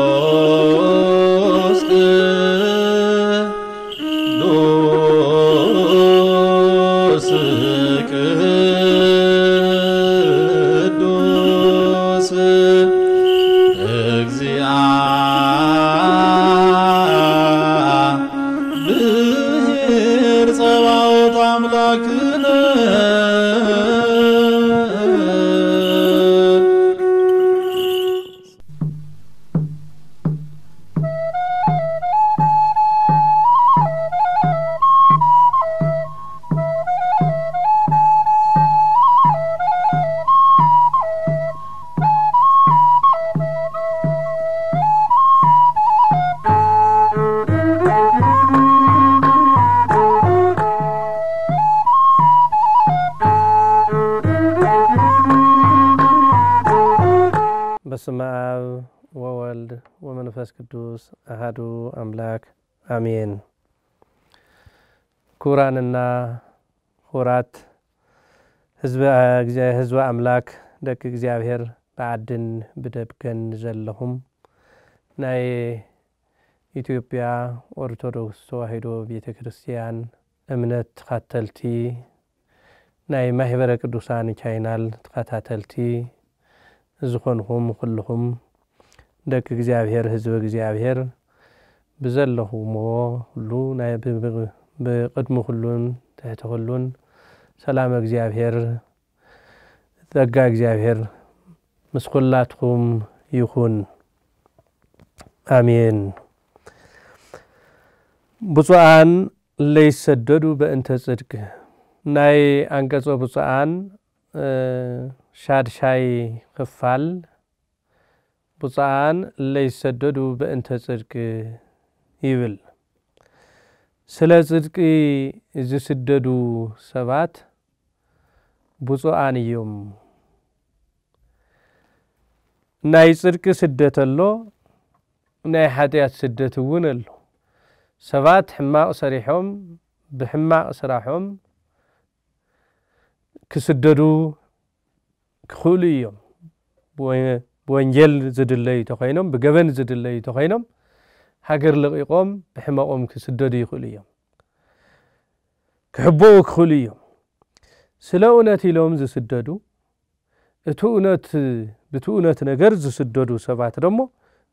ቅዱስ ቅዱስ ቅዱስ እግዚአብሔር ጸባኦት አምላክነ። በስመ አብ ወወልድ ወመንፈስ ቅዱስ አሃዱ አምላክ አሜን። ክቡራንና ክቡራት ህዝበ፣ ህዝበ ኣምላክ፣ ደቂ እግዚኣብሔር፣ ብዓድን ብደብገን ዘለኹም፣ ናይ ኢትዮጵያ ኦርቶዶክስ ተዋሕዶ ቤተ ክርስቲያን እምነት ተኸተልቲ፣ ናይ ማህበረ ቅዱሳን ቻይናል ተኸታተልቲ ዝኾንኹም ኩልኹም ደቂ እግዚኣብሔር፣ ህዝበ እግዚኣብሔር፣ ብዘለኹምዎ ሁሉ ናይ፣ ብ-፣ ብ-፣ ብቅድሚ ኩሉን ትሕቲ ኩሉን ሰላም እግዚኣብሔር፣ ጸጋ እግዚኣብሔር ምስ ኩላትኩም ይኹን። ኣሜን። ብፁዓን ለይሰደዱ በእንተ ጽድቅ። ናይ ኣንቀጾ ብፁዓን፣ እ፣ ሻድሻይ ክፋል፣ ብፁዓን ለይሰደዱ በእንተ ጽድቅ ይብል። ስለ ጽድቂ ዝስደዱ ሰባት ብፁዓን እዮም። ናይ ጽድቂ ስደት ኣሎ፣ ናይ ሓጢኣት ስደት እውን ኣሎ። ሰባት ሕማቕ ሰሪሖም፣ ብሕማቕ ስራሖም ክስደዱ ክኽእሉ እዮም። ብወ-፣ ብወንጌል ዝድለዩ ተኾይኖም፣ ብገበን ዝድለዩ ተኾይኖም፣ ሃገር ለቒቖም ብሕመቖም ክስደዱ ይኽእሉ እዮም። ክሕበኡ ክኽእሉ እዮም። ስለ እውነት ኢሎም ዝስደዱ፣ እቲ እውነት፣ ብቲ እውነት ነገር ዝስደዱ ሰባት ደሞ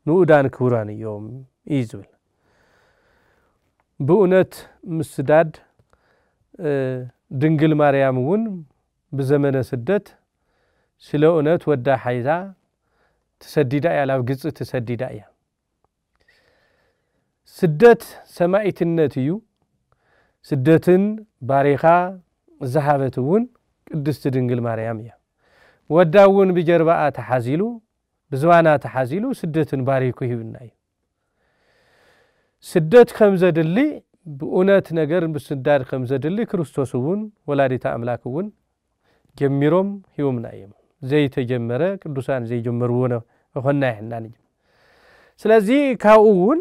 ንኡዳን ክቡራን እዮም እዩ ዝብል። ብእውነት ምስዳድ፣ እ፣ ድንግል ማርያም እውን ብዘመነ ስደት ስለ እውነት ወዳ ሓይዛ ተሰዲዳ እያ፣ ናብ ግብጺ ተሰዲዳ እያ። ስደት ሰማኢትነት እዩ። ስደትን ባሪኻ ዝሃበት እውን ቅድስቲ ድንግል ማርያም እያ። ወዳ እውን ብጀርባኣ ተሓዚሉ፣ ብዝባና ተሓዚሉ ስደትን ባሪኩ ሂብና እዩ። ስደት ከም ዘድሊ፣ ብእውነት ነገር ምስዳድ ከም ዘድሊ ክርስቶስ እውን ወላዲተ ኣምላክ እውን ጀሚሮም ሂቦምና እዮም። ዘይተጀመረ ቅዱሳን ዘይጀመርዎ ነ-፣ እኾና ይሕናን እዩ። ስለዚ ካብኡ እውን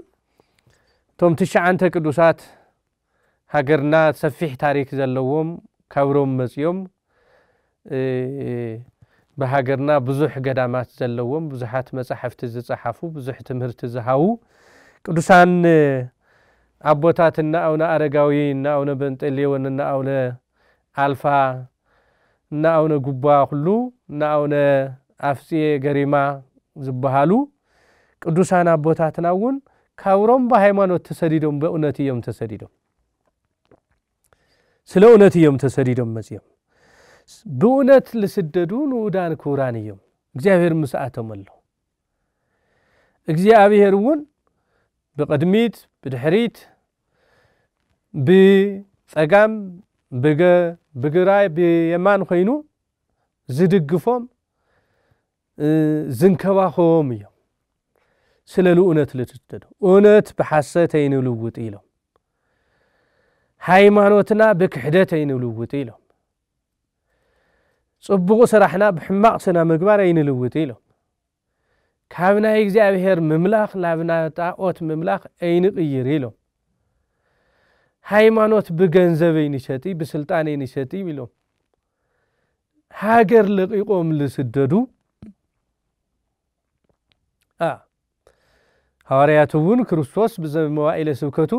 እቶም ትሽዓንተ ቅዱሳት ሃገርና ሰፊሕ ታሪክ ዘለዎም ካብ ሮም መጺኦም፣ እ፣ ብሃገርና ብዙሕ ገዳማት ዘለዎም፣ ብዙሓት መጻሕፍቲ ዝጸሓፉ፣ ብዙሕ ትምህርቲ ዝሃቡ ቅዱሳን ኣቦታት እነ ኣቡነ ኣረጋዊ፣ እነ ኣቡነ በንጠሌዎን፣ እነ ኣቡነ ኣልፋ፣ እነ ኣቡነ ጉባ ኩሉ፣ እነ ኣቡነ ኣፍጽየ ገሪማ ዝበሃሉ ቅዱሳን ኣቦታትና እውን ካብ ሮም ብሃይማኖት ተሰዲዶም፣ በእውነት እዮም ተሰዲዶም። ስለ እውነት እዮም ተሰዲዶም መጺኦም። ብእውነት ልስደዱ ንኡዳን ክቡራን እዮም። እግዚኣብሔር ምስኣቶም ኣሎ። እግዚኣብሔር እውን ብቕድሚት፣ ብድሕሪት፣ ብጸጋም፣ ብገ-፣ ብግራይ፣ ብየማን ኮይኑ ዝድግፎም፣ እ፣ ዝንከባኸቦም እዮም። ስለ ልኡነት ልትስደዱ። እውነት ብሓሰት ኣይንልውጥ ኢሎም። ሃይማኖትና ብክሕደት ኣይንልውጥ ኢሎም። ጽቡቕ ስራሕና ብሕማቕ ስነ ምግባር ኣይንልውጥ ኢሎም። ካብ ናይ እግዚኣብሔር ምምላኽ ናብ ናይ ጣኦት ምምላኽ ኣይንቕይር ኢሎም። ሃይማኖት ብገንዘብ ኣይንሸጢ፣ ብስልጣን ኣይንሸጢ ኢሎም። ሃገር ለቒቖም ዝስደዱ፣ አ፣ ሃዋርያት እውን ክርስቶስ ብዘመዋኢለ ስብከቱ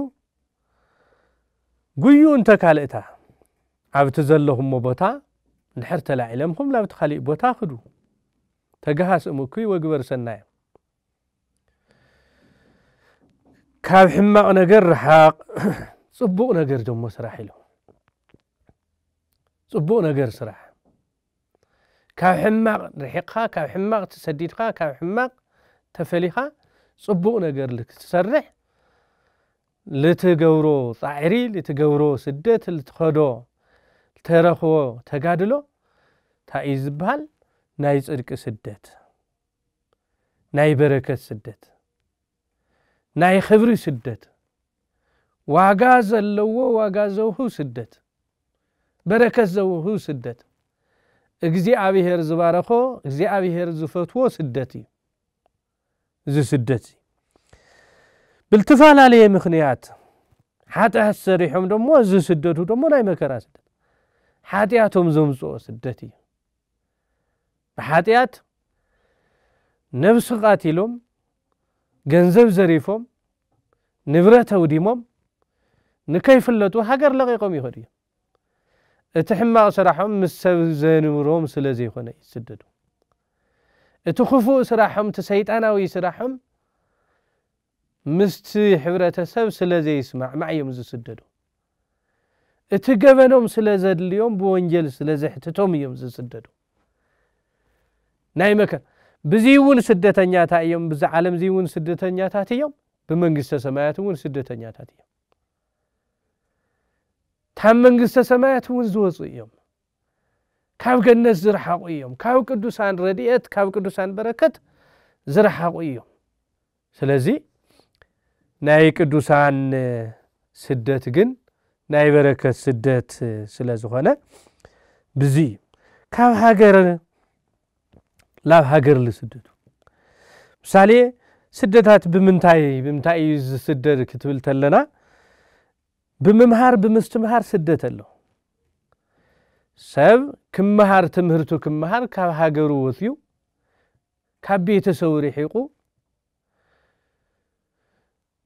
ጉዩ እንተ ካልእታ፣ ኣብቲ ዘለኹሞ ቦታ እንድሕር ተላዒለምኹም፣ ናብቲ ካሊእ ቦታ ክዱ። ተገሃስ እምኩይ ወግበር ሰናየ። ካብ ሕማቕ ነገር ርሓቕ፣ ጽቡቕ ነገር ደሞ ስራሕ ኢሉ። ጽቡቕ ነገር ስራሕ። ካብ ሕማቕ ርሒቕካ፣ ካብ ሕማቕ ተሰዲድካ፣ ካብ ሕማቕ ተፈሊኻ፣ ጽቡቕ ነገር ልክትሰርሕ፣ ልትገብሮ ጻዕሪ፣ ልትገብሮ ስደት፣ ልትኸዶ፣ ልተረኽቦ ተጋድሎ፣ እንታይ እዩ ዝበሃል? ናይ ጽድቂ ስደት፣ ናይ በረከት ስደት፣ ናይ ክብሪ ስደት፣ ዋጋ ዘለዎ፣ ዋጋ ዘውህብ ስደት፣ በረከት ዘውህብ ስደት፣ እግዚኣብሔር ዝባረኾ፣ እግዚኣብሔር ዝፈትዎ ስደት እዩ። እዚ ስደት እዚ ብልትፈላለየ ምኽንያት ሓጢኣት ሰሪሖም ደሞ ዝስደዱ ደሞ ናይ መከራ ስደት፣ ሓጢኣቶም ዘምጽኦ ስደት እዩ። ብሓጢኣት ነብሲ ቃቲሎም፣ ገንዘብ ዘሪፎም፣ ንብረት ኣውዲሞም፣ ንከይፍለጡ ሃገር ለቒቖም ይኸዱ እዮም። እቲ ሕማቕ ስራሖም ምስ ሰብ ዘንብሮም ስለ ዘይኮነ እዩ ዝስደዱ። እቲ ክፉእ ስራሖም፣ እቲ ሰይጣናዊ ስራሖም ምስቲ ሕብረተሰብ ስለ ዘይስማዕማዕ እዮም ዝስደዱ። እቲ ገበኖም ስለ ዘድልዮም፣ ብወንጀል ስለ ዘሕትቶም እዮም ዝስደዱ። ናይ መከ-፣ ብዚ እውን ስደተኛታት እዮም፣ ብዚ ዓለም እዚ እውን ስደተኛታት እዮም፣ ብመንግስተ ሰማያት እውን ስደተኛታት እዮም። ካብ መንግስተ ሰማያት እውን ዝወፁ እዮም። ካብ ገነት ዝረሓቑ እዮም። ካብ ቅዱሳን ረድኤት፣ ካብ ቅዱሳን በረከት ዝረሓቑ እዮም። ስለዚ ናይ ቅዱሳን ስደት ግን ናይ በረከት ስደት ስለ ዝኾነ፣ ብዚ እዩ ካብ ሃገር ላብ ሃገር ዝስደዱ። ምሳሌ፣ ስደታት ብምንታይ፣ ብምንታይ እዩ ዝስደድ ክትብል ተለና፣ ብምምሃር ብምስትምሃር ስደት ኣሎ። ሰብ ክመሃር፣ ትምህርቱ ክመሃር ካብ ሃገሩ ወፅዩ፣ ካብ ቤተሰቡ ርሒቑ፣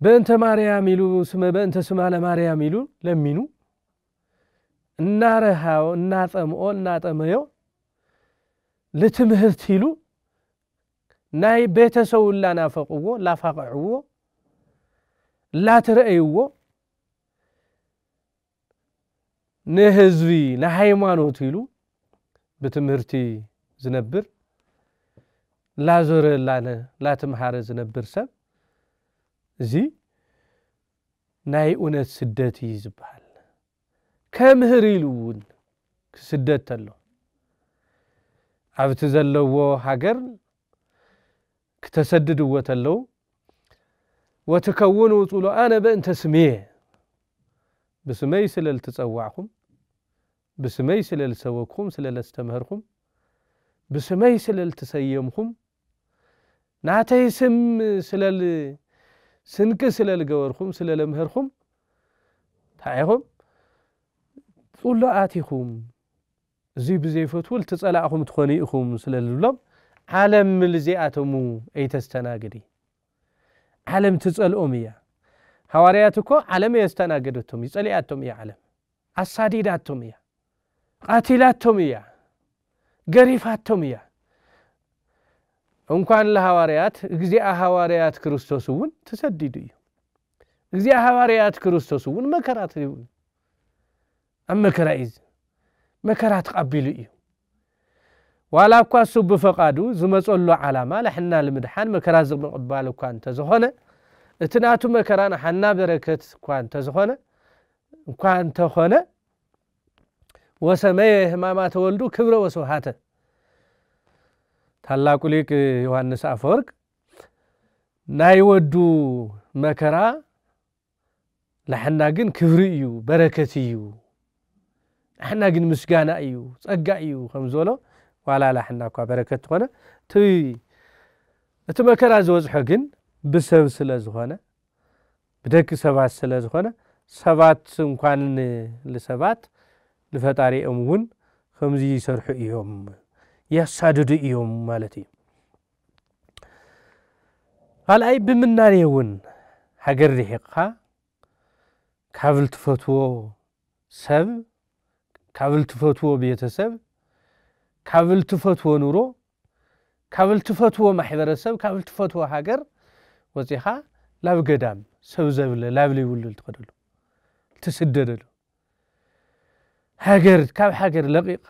በእንተ ማርያም ኢሉ፣ ስመ በእንተ ስማ ለማርያም ኢሉ ለሚኑ፣ እናረሃቦ፣ እናጠምኦ፣ እናጠመዮ፣ ልትምህርት ኢሉ ናይ ቤተሰቡ ላናፈቅዎ፣ ላፋቅዕዎ፣ ላትረአይዎ፣ ንህዝቢ፣ ንሃይማኖት ኢሉ ብትምህርቲ ዝነብር፣ ላዞረ፣ ላነ-፣ ላትምሃረ ዝነብር ሰብ፣ እዚ ናይ እውነት ስደት እዩ ዝበሃል። ከምህር ኢሉ እውን ክስደድ ተሎ፣ ኣብቲ ዘለዎ ሃገር ክተሰድድዎ ተለዉ፣ "ወትከውኑ ጽሉኣነ በእንተ ስምየ"፣ ብስመይ ስለ ልትጸዋዕኹም፣ ብስመይ ስለ ልሰበክኹም፣ ስለ ለስተምህርኩም፣ ብስመይ ስለ ልትሰየምኹም፣ ናተይ ስም ስለ ል-፣ ስንቂ ስለ ልገበርኩም፣ ስለ ለምህርኩም፣ እንታይ ኢኹም? ጽሉኣት ኢኹም። እዚ ብዘይፈትዉ ልትጸላእኹም ትኾኑ ኢኹም ስለ ልብሎም፣ ዓለም ልዚኣቶም ኣይተስተናግድ እዩ። ዓለም ትጸልኦም እያ። ሃዋርያት እኮ ዓለም የስተናገደቶም እዩ፣ ጸሊኣቶም እያ ዓለም። ኣሳዲዳቶም እያ። ቃቲላቶም እያ። ገሪፋቶም እያ። እንኳን ለሃዋርያት፣ እግዚኣብ ሃዋርያት ክርስቶስ እውን ተሰዲዱ እዩ። እግዚኣብ ሃዋርያት ክርስቶስ እውን መከራ ተሪቡ እዩ። ኣብ መከራ እዩ፣ መከራ ተቐቢሉ እዩ። ዋላ እኳ እሱ ብፈቓዱ ዝመጸሉ ዓላማ ለሕና ልምድሓን መከራ ዝምቕባል እኳ እንተዝኾነ፣ እቲ ናቱ መከራ ንሓና በረከት እኳ እንተዝኾነ፣ እኳ እንተኾነ፣ "ወሰመየ ህማማተ ወልዱ ክብረ ወስብሃተ"። ታላቁ ሊቅ ዮሃንስ ኣፈወርቅ፣ "ናይ ወዱ መከራ ንሓና ግን ክብሪ እዩ፣ በረከት እዩ፣ ንሓና ግን ምስጋና እዩ፣ ጸጋ እዩ" ከም ዝበሎ፣ ዋላ ንሓና እኳ በረከት ትኾነ፣ እቲ፣ እቲ መከራ ዝበጽሖ ግን ብሰብ ስለ ዝኾነ፣ ብደቂ ሰባት ስለ ዝኾነ፣ ሰባት እንኳን ን-፣ ንሰባት ንፈጣሪኦም እውን ከምዚ ይሰርሑ እዮም፣ ያሳድዱ እዮም ማለት እዩ። ካልኣይ ብምናኔ እውን ሃገር ርሒቕኻ ካብ ልትፈትዎ ሰብ፣ ካብ ልትፈትዎ ቤተሰብ፣ ካብ ልትፈትዎ ኑሮ፣ ካብ ልትፈትዎ ማሕበረሰብ፣ ካብ ልትፈትዎ ሃገር ወፂኻ ላብ ገዳም ሰብ ዘብለ ላብ ዘይብሉ ልትኸደሉ፣ ልትስደደሉ፣ ሃገር ካብ ሃገር ለቒቕካ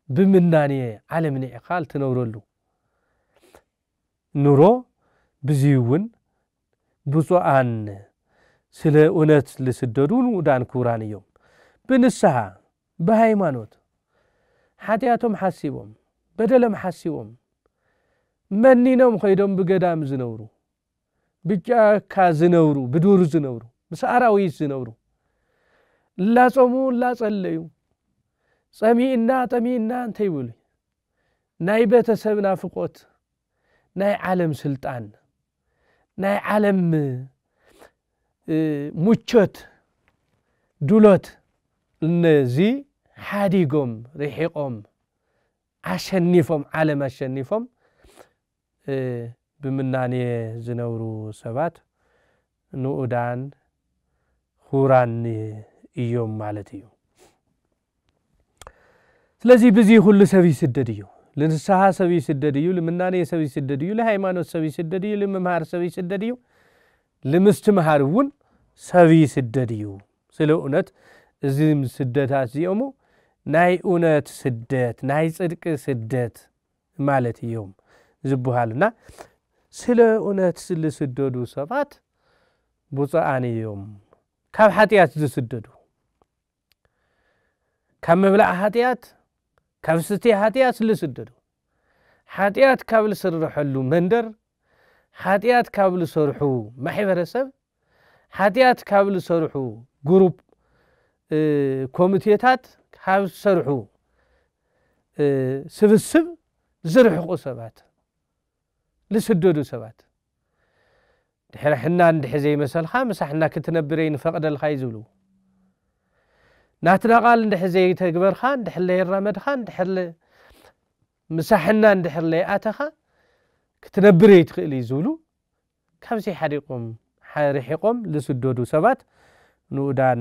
ብምናኔ ዓለም ኒዕኻ ልትነብረሉ ኑሮ። ብዚ እውን ብፁዓን ስለ እውነት ልስደዱ ንኡዳን ክቡራን እዮም። ብንስሓ ብሃይማኖት ሓጢኣቶም ሓሲቦም በደሎም ሓሲቦም መኒኖም ኸይዶም ብገዳም ዝነብሩ፣ ብጫካ ዝነብሩ፣ ብዱር ዝነብሩ፣ ምስ ኣራዊት ዝነብሩ፣ እላጾሙ እላጸለዩ፣ ጸሚእና ጠሚእና እንተይብሉ፣ ናይ ቤተሰብ ናፍቆት፣ ናይ ዓለም ስልጣን፣ ናይ ዓለም ሙቾት፣ ዱሎት፣ እነዚ ሓዲጎም ርሒቆም ኣሸኒፎም ዓለም ኣሸኒፎም ብምናኔ ዝነብሩ ሰባት ንኡዳን ክቡራን እዮም ማለት እዩ። ስለዚ ብዚ ኩሉ ሰብ ይስደድ እዩ። ልንስሓ ሰብ ይስደድ እዩ፣ ልምናኔ ሰብ ይስደድ እዩ፣ ልሃይማኖት ሰብ ይስደድ እዩ፣ ልምምሃር ሰብ ይስደድ እዩ፣ ልምስትምሃር እውን ሰብ ይስደድ እዩ። ስለ እውነት እዚም ስደታት እዚኦሙ ናይ እውነት ስደት፣ ናይ ጽድቂ ስደት ማለት እዮም ዝበሃሉና። ስለ እውነት ዝስደዱ ሰባት ብፁዓን እዮም። ካብ ሓጢኣት ዝስደዱ፣ ካብ ምብላዕ ሓጢኣት፣ ካብ ስቴ ሓጢኣት ዝስደዱ፣ ሓጢኣት ካብ ዝስርሐሉ መንደር፣ ሓጢኣት ካብ ዝሰርሑ ማሕበረሰብ፣ ሓጢኣት ካብ ዝሰርሑ ግሩፕ ኮሚቴታት፣ ካብ ዝሰርሑ ስብስብ ዝርሕቁ ሰባት፣ ዝስደዱ ሰባት፣ ድሕሪ ሕና እንድሕ ዘይመሰልካ ምሳሕና ክትነብር ንፈቕደልካ እዩ ዝብሉ። ናትና ቃል እንድሕ ዘይተግበርካ፣ እንድሕ ለየራመድካ፣ እንድሕር ምሳሕና እንድሕር ለይኣተኻ ክትነብር ኣይትኽእል እዩ ዝብሉ። ካብዚ ሓዲቆም ርሒቆም ዝስደዱ ሰባት ንኡዳን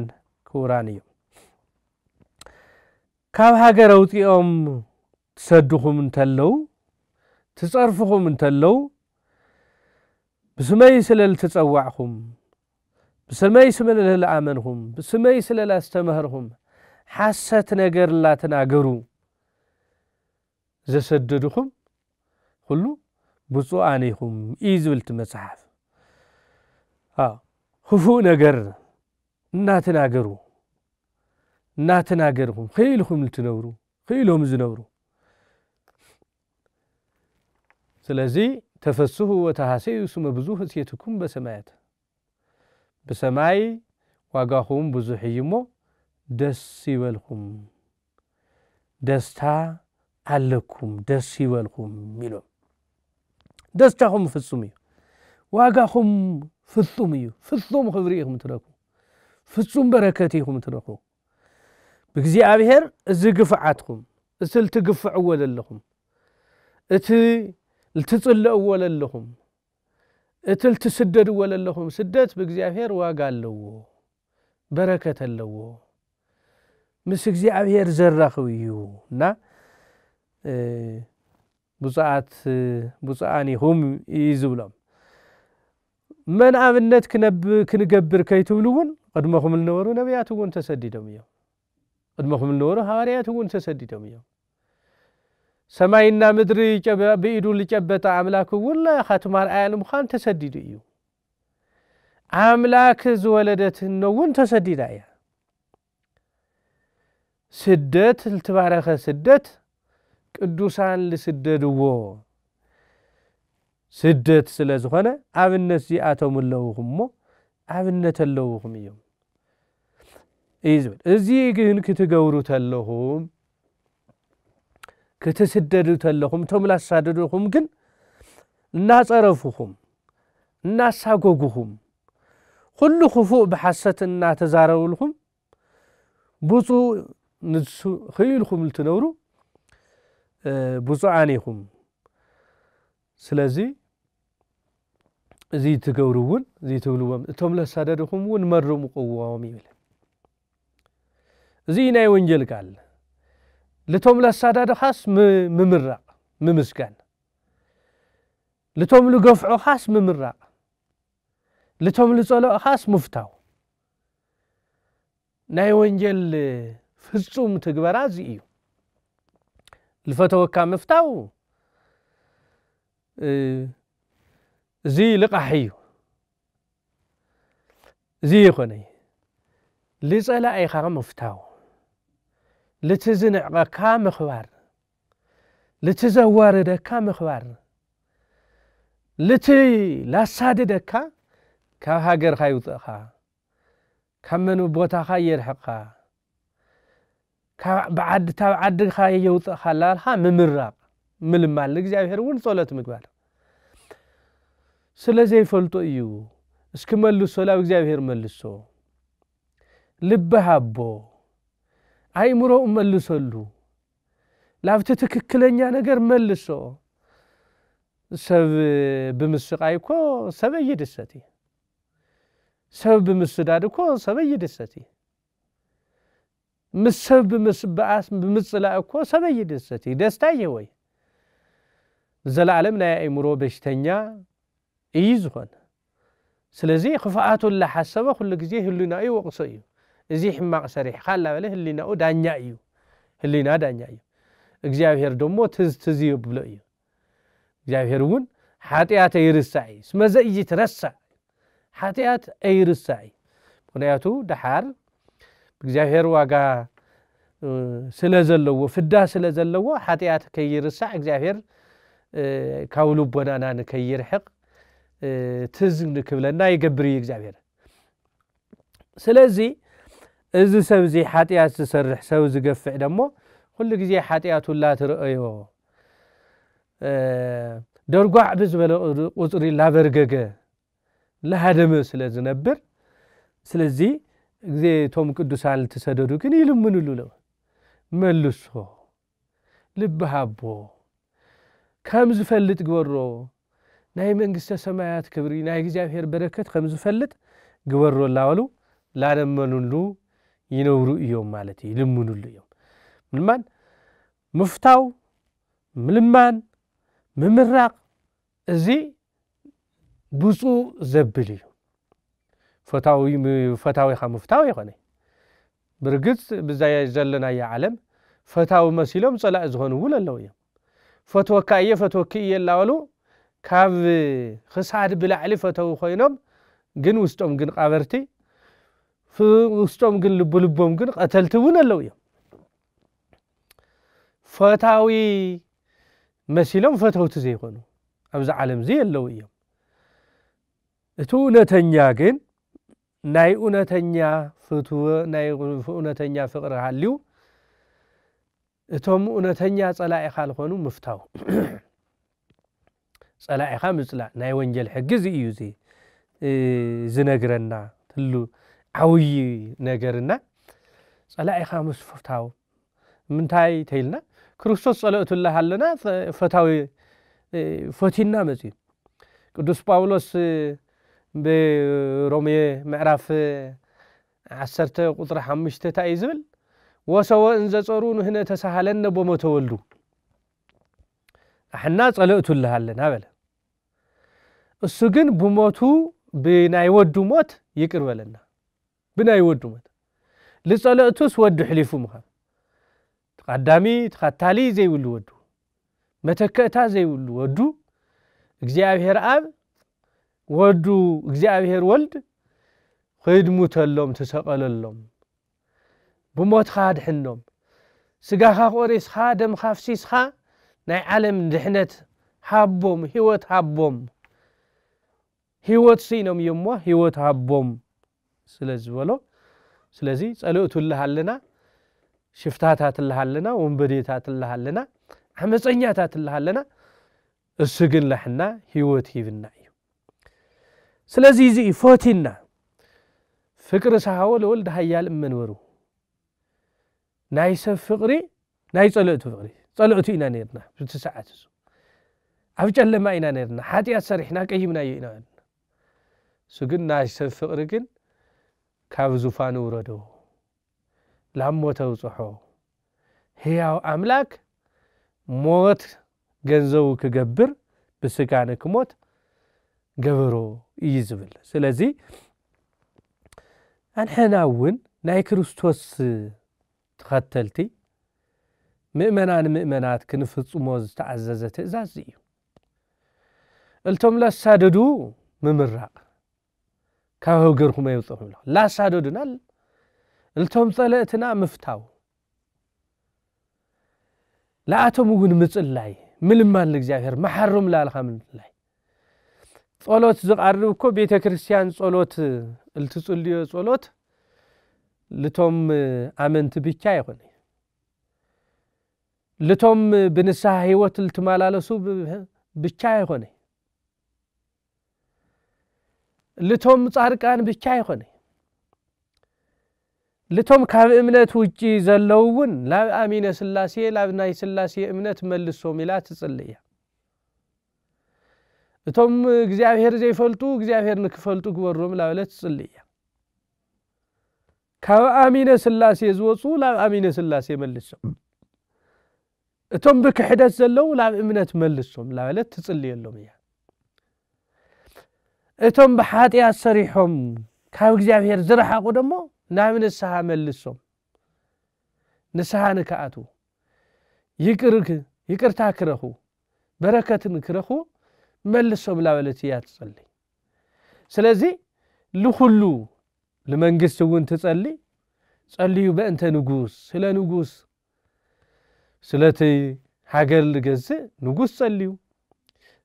ክቡራን እዮም። ካብ ሃገር ኣውፂኦም ትሰድኹም እንተለዉ፣ ትፀርፍኹም እንተለዉ፣ ብስመይ ስለ ልትፀዋዕኹም፣ ብስመይ ስለ ልኣመንኹም፣ ብስመይ ስለ ላስተምህርኹም፣ ሓሰት ነገር ላተናገሩ ዘሰደድኹም ኩሉ ብፁዓን ኢኹም እዩ ዝብል እቲ መጽሓፍ። ክፉእ ነገር እናተናገሩ እናተናገርኹም ክኢልኹም ልትነብሩ ክኢሎም ዝነብሩ። ስለዚ ተፈስሑ ወተሃሰዩ ስመ ብዙ ህሴትኩም በሰማያት፣ ብሰማይ ዋጋኹም ብዙሕ እዩ እሞ ደስ ይበልኩም፣ ደስታ ኣለኩም፣ ደስ ይበልኩም ኢሎም። ደስታኹም ፍጹም እዩ፣ ዋጋኹም ፍጹም እዩ። ፍጹም ክብሪ ኢኹም ትረኽቡ፣ ፍጹም በረከት ኢኹም ትረኽቡ። ብእግዚኣብሔር እዚ ግፍዓትኩም፣ እቲ ልትግፍዕዎ ዘለኹም፣ እቲ ልትጽልእዎ ዘለኹም፣ እቲ ልትስደድዎ ዘለኹም ስደት ብእግዚኣብሔር ዋጋ ኣለዎ፣ በረከት ኣለዎ፣ ምስ እግዚኣብሔር ዘራኽብ እዩ። እና ብፁዓት ብፁዓን ኢኹም እዩ ዝብሎም። መን ኣብነት ክንገብር ከይትብሉ እውን ቅድመኹም ዝነበሩ ነቢያት እውን ተሰዲዶም እዮም። ቅድመኹም ዝነበሩ ሃዋርያት እውን ተሰዲዶም እዮም። ሰማይና ምድሪ ብኢዱ ዝጨበጠ ኣምላክ እውን ካቱም ኣርኣያ ንምዃን ተሰዲዱ እዩ። ኣምላክ ዝወለደት እኖ እውን ተሰዲዳ እያ። ስደት፣ ልትባረኸ ስደት ቅዱሳን ልስደድዎ ስደት ስለ ዝኾነ ኣብነት ዚኣቶም ኣለውኹም እሞ ኣብነት ኣለውኹም እዮም እዩ ዝብል። እዚ ግን ክትገብሩ ተለኹም፣ ክትስደዱ ተለኹም፣ እቶም ላሳደዱኹም ግን እናጸረፉኹም፣ እናሳጎጉኹም፣ ኩሉ ክፉእ ብሓሰት እናተዛረቡልኹም፣ ብፁዕ ንሱ ክኢልኩም ልትነብሩ ብፁዓን ኢኹም። ስለዚ እዚ ትገብሩ እውን እዚ ትብልዎም እቶም ለሳደድኹም እውን መርምቕዎም ይብል። እዚ ናይ ወንጀል ቃል ልቶም ለሳዳድኻስ ምምራቕ ምምስጋን፣ ልቶም ልገፍዑኻስ ምምራቕ፣ ልቶም ልጸለእኻስ ምፍታው። ናይ ወንጀል ፍጹም ትግበራ እዚ እዩ። ልፈተወካ ምፍታው እዚ ልቓሕ እዩ። እዚ ይኾነ ልጸላኢኻ ምፍታው፣ ልቲ ዝንዕቐካ ምኽባር፣ ልቲ ዘዋርደካ ምኽባር፣ ልቲ ላሳድደካ ካብ ሃገርካ ይውፅእኻ፣ ካብ መን ቦታኻ የርሕቕኻ፣ ካብ ዓድኻ የውፅእኻ ላልካ ምምራቕ ምልማል ንእግዚኣብሔር እውን ጸሎት ምግባር። ስለ ዘይፈልጦ እዩ። እስኪ መልሶ ላብ እግዚኣብሔር መልሶ። ልቢ ሃቦ፣ ኣእምሮኡ መልሰሉ። ላብቲ ትክክለኛ ነገር መልሶ። ሰብ ብምስቃይ እኮ ሰበይ ይድሰት እዩ። ሰብ ብምስዳድ እኮ ሰበይ ይድሰት እዩ። ምስ ሰብ ብምስባኣስ ብምጽላእ እኮ ሰበይ ይድሰት እዩ። ደስታ ይህወይ። ዘላለም ናይ ኣእምሮ በሽተኛ እዩ ዝኾን። ስለዚ ክፍኣቱ እናሓሰበ ኩሉ ግዜ ህሊናኡ ይወቕሶ እዩ። እዚ ሕማቕ ሰሪሕካ እናበለ ህሊናኡ ዳኛ እዩ። ህሊና ዳኛ እዩ። እግዚኣብሔር ደሞ ትዝ ትዝ የብሎ እዩ። እግዚኣብሔር እውን ሓጢኣት ኣይርሳዕ እዩ። ስመዘ ይትረሳዕ ሓጢኣት ኣይርሳዕ እዩ። ምኽንያቱ ደሓር እግዚኣብሔር ዋጋ ስለ ዘለዎ፣ ፍዳ ስለ ዘለዎ ሓጢኣት ከይርሳዕ እግዚኣብሔር ካብ ልቦናና ንከይርሕቕ ትዝ ንክብለና ይገብር እዩ እግዚኣብሔር። ስለዚ እዚ ሰብ እዚ ሓጢኣት ዝሰርሕ ሰብ ዝገፍዕ ደሞ ኩሉ ግዜ ሓጢኣቱ ላትረአዮ ደርጓዕ ብዝበለ ቁፅሪ ላበርገገ ላሃደመ ስለ ዝነብር፣ ስለዚ ግዜ እቶም ቅዱሳን ልትሰደዱ ግን ይልምንሉ ኣለዉ። መልሶ፣ ልቢ ሃቦ፣ ከም ዝፈልጥ ግበሮ፣ ናይ መንግስተ ሰማያት ክብሪ ናይ እግዚኣብሔር በረከት ከም ዝፈልጥ ግበሮ እናበሉ ላለመኑሉ ይነብሩ እዮም ማለት እዩ። ይልምኑሉ እዮም። ምልማን ምፍታው፣ ምልማን ምምራቕ፣ እዚ ብፁዕ ዘብል እዩ። ፈታዊ ፈታዊኻ ምፍታው ይኾነ። ብርግጽ ብዛይ ዘለናዮ ዓለም ፈታዊ መሲሎም ጸላኢ ዝኾኑ እውን ኣለዉ እዮም። ፈትወካ እየ ፈትወኪ እየ እናበሉ ካብ ክሳድ ብላዕሊ ፈተዊ ኮይኖም ግን ውስጦም ግን ቃበርቲ፣ ውስጦም ግን ልቡ ልቦም ግን ቀተልቲ እውን ኣለዉ እዮም። ፈታዊ መሲሎም ፈተውቲ ዘይኮኑ ኣብዚ ዓለም እዚ ኣለዉ እዮም። እቲ እውነተኛ ግን ናይ እውነተኛ ፍትወ ናይ እውነተኛ ፍቅሪ ሃልዩ እቶም እውነተኛ ጸላኢኻ ዝኾኑ ምፍታው። ጸላኢኻ ምጽላእ ናይ ወንጀል ሕጊ እዚ እዩ። እዚ ዝነግረና ትሉ ዓብዪ ነገርና ጸላኢኻ ምስ ፍታው። ምንታይ ተይልና ክርስቶስ ጸለእቱ ኣለሃለና ፈታዊ ፈቲና መጽዩ። ቅዱስ ጳውሎስ ብሮሜ ምዕራፍ ዓሰርተ ቁፅሪ ሓሙሽተ እንታይ እዩ ዝብል? ወሰወ እንዘ ጾሩ ንህነ ተሳሃለነ ቦመ ተወልዱ። ኣሕና ጸለእቱ ኣለሃለና በለ። እሱ ግን ብሞቱ ብናይ ወዱ ሞት ይቅር በለና። ብናይ ወዱ ሞት ልጸለእቱስ ወዱ ሕሊፉ ምኻን ተቐዳሚ ተኸታሊ ዘይብሉ ወዱ መተከእታ ዘይብሉ ወዱ እግዚኣብሔር ኣብ ወዱ እግዚኣብሔር ወልድ ኺድሙተሎም ትሰቐለሎም ብሞትኻ ድሕኖም ስጋኻ ቆሪስኻ ደምኻ ፍሲስኻ ናይ ዓለም ድሕነት ሃቦም ህይወት ሃቦም ህይወት ስኢኖም እዮም እሞ ህይወት ሃቦም ስለ ዝበሎ ስለዚ ጸልእቱ ኣለሃለና ሽፍታታት ኣለሃለና ወንበዴታት ኣለሃለና ዓመፀኛታት ኣለሃለና እሱ ግን ለሕና ህይወት ሂብና እዩ ስለዚ እዚ እዩ ፈቲና ፍቅሪ ሰሃወ ለወልድ ሃያል እመንበሩ ናይ ሰብ ፍቕሪ ናይ ጸለእቱ ፍቕሪ፣ ጸለእቱ ኢና ነርና። ብቲ ሰዓት እሱ ኣብ ጨለማ ኢና ነርና፣ ሓጢኣት ሰሪሕና ቀይምናዮ ኢና ነርና። እሱ ግን ናይ ሰብ ፍቕሪ ግን ካብ ዙፋኑ ውረዶ፣ ላሞ ተውጽሖ። ህያው ኣምላክ ሞት ገንዘቡ ክገብር፣ ብስጋ ንክሞት ገበሮ እዩ ዝብል። ስለዚ ኣንሕና እውን ናይ ክርስቶስ ተኸተልቲ ምእመናን ምእመናት ክንፍጽሞ ዝተኣዘዘ ትእዛዝ እዩ። እልቶም ለሳደዱ ምምራቕ፣ ካብ ሃገርኩም ኣይውፅኹም ኢሉ ላሳደዱና፣ እልቶም ጸለእትና ምፍታው፣ ለኣቶም እውን ምጽላይ፣ ምልማን ለእግዚኣብሔር መሓሮም ላልኻ ምልላይ። ጸሎት ዝቃርብ እኮ ቤተ ክርስቲያን ጸሎት፣ እልትጽልዮ ጸሎት ልቶም ኣመንቲ ብቻ ኣይኮነ፣ ልቶም ብንስሓ ህይወት ልትመላለሱ ብ-፣ ብቻ ኣይኮነ፣ ልቶም ጻድቃን ብቻ ኣይኮነ፣ ልቶም ካብ እምነት ውጪ ዘለዉ እውን ላብ ኣሚነ ስላሴ፣ ላብ ናይ ስላሴ እምነት መልሶም ኢላ ትጽሊ እያ። እቶም እግዚኣብሔር ዘይፈልጡ እግዚኣብሔር ንክፈልጡ ግበሮም ላበለት ትጽሊ እያ። ካብ ኣሚነ ስላሴ ዝወፁ ላብ ኣሚነ ስላሴ መልሶም፣ እቶም ብክሕደት ዘለዉ ላብ እምነት መልሶም ላበለት ትጽልየሎም እያ። እቶም ብሓጢኣት ሰሪሖም ካብ እግዚኣብሔር ዝረሓቑ ደሞ ናብ ንስሓ መልሶም፣ ንስሓ ንክኣትዉ፣ ይቅር-፣ ይቅርታ ክረኽቡ፣ በረከትን ክረኽቡ መልሶም ላበለት እያ ትጸሊ። ስለዚ ልኹሉ፣ ልመንግስቲ እውን ትጸሊ፣ ጸልዩ በእንተ ንጉስ፣ ስለ ንጉስ፣ ስለቲ ሃገር ልገዝእ ንጉስ ጸልዩ፣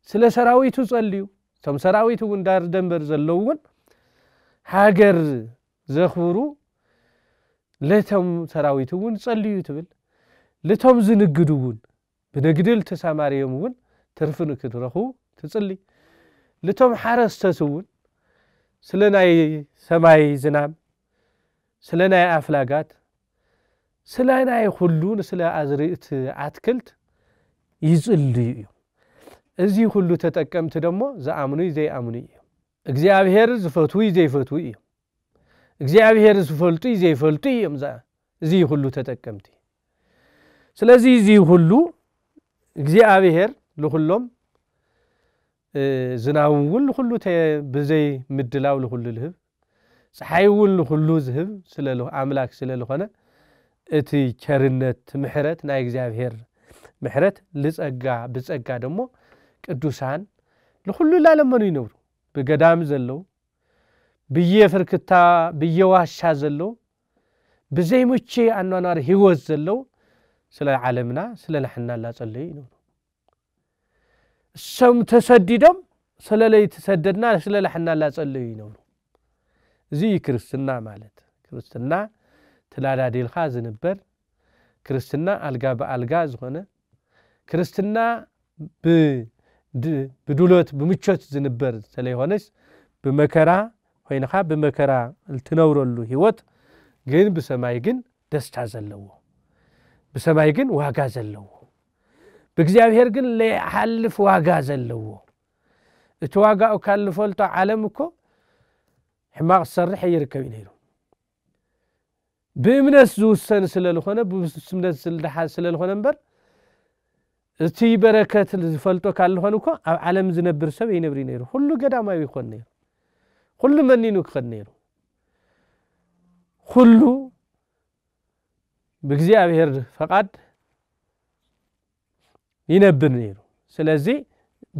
ስለ ሰራዊቱ ጸልዩ። እቶም ሰራዊት እውን ዳር ደንበር ዘለዉ እውን ሃገር ዘኽብሩ፣ ለቶም ሰራዊት እውን ጸልዩ ትብል። ልቶም ዝንግዱ እውን ብንግዲ ልተሰማርዮም እውን ትርፊ ንክትረኽቡ ትጽሊ። ልቶም ሓረስተት እውን ስለ ናይ ሰማይ ዝናም፣ ስለ ናይ ኣፍላጋት፣ ስለ ናይ ኩሉ፣ ስለ ኣዝርእቲ ኣትክልት ይጽልዩ እዩ። እዚ ኩሉ ተጠቀምቲ ደሞ ዝኣምኑ እዩ ዘይኣምኑ እዩ። እግዚኣብሔር ዝፈትዉ እዩ ዘይፈትዉ እዩ። እግዚኣብሔር ዝፈልጡ እዩ ዘይፈልጡ እዮም። እዛ-፣ እዚ ኩሉ ተጠቀምቲ። ስለዚ እዚ ኩሉ እግዚኣብሔር ልኹሎም፣ እ፣ ዝናብ እውን ልኹሉ ተ-፣ ብዘይ ምድላው ልኹሉ ልህብ፣ ፀሓይ እውን ልኹሉ ዝህብ ስለ ል-፣ ኣምላክ ስለ ልኾነ፣ እቲ ቸርነት፣ ምሕረት ናይ እግዚኣብሔር ምሕረት ልጸጋ፣ ብጸጋ ደሞ ቅዱሳን ልኹሉ ላለመኑ ይነብሩ። ብገዳም ዘለዉ፣ ብየ ፍርክታ፣ ብየ ዋሻ ዘለዉ፣ ብዘይምቹ ኣኗኗር ህይወት ዘለዉ፣ ስለ ዓለምና፣ ስለ ንሕና ላጸለዩ ይነብሩ። እሶም ተሰዲዶም፣ ስለ ለይተሰደድና፣ ስለ ንሕና ላጸለዩ ይነብሩ። እዚ እዩ ክርስትና ማለት። ክርስትና ተላዳዲልካ ዝንበር፣ ክርስትና ኣልጋ ብኣልጋ ዝኾነ፣ ክርስትና ብ-፣ ድ-፣ ብድሎት፣ ብምቾት ዝንበር ስለይኾነስ፣ ብመከራ ኮይንኻ፣ ብመከራ እትነብረሉ ህይወት ግን ብሰማይ ግን ደስታ ዘለዎ፣ ብሰማይ ግን ዋጋ ዘለዎ፣ ብእግዚኣብሔር ግን ለይሓልፍ ዋጋ ዘለዎ። እቲ ዋጋኡ ካብ ልፈልጦ ዓለም እኮ ሕማቕ ዝሰርሕ ኣይርከብ እዩ ነይሩ። ብእምነት ዝውሰን ስለ ዝኾነ፣ ብእምነት ዝልደሓዝ ስለ ዝኾነ እምበር፣ እቲ በረከት ዝፈልጦ ካብ ዝኾነ እኮ ኣብ ዓለም ዝነብር ሰብ ኣይነብር እዩ ነይሩ። ኩሉ ገዳማዊ ይኾን ነይሩ። ኩሉ መኒኑ ክኸድ ነይሩ። ኩሉ ብእግዚኣብሔር ፈቃድ ይነብር ነይሩ። ስለዚ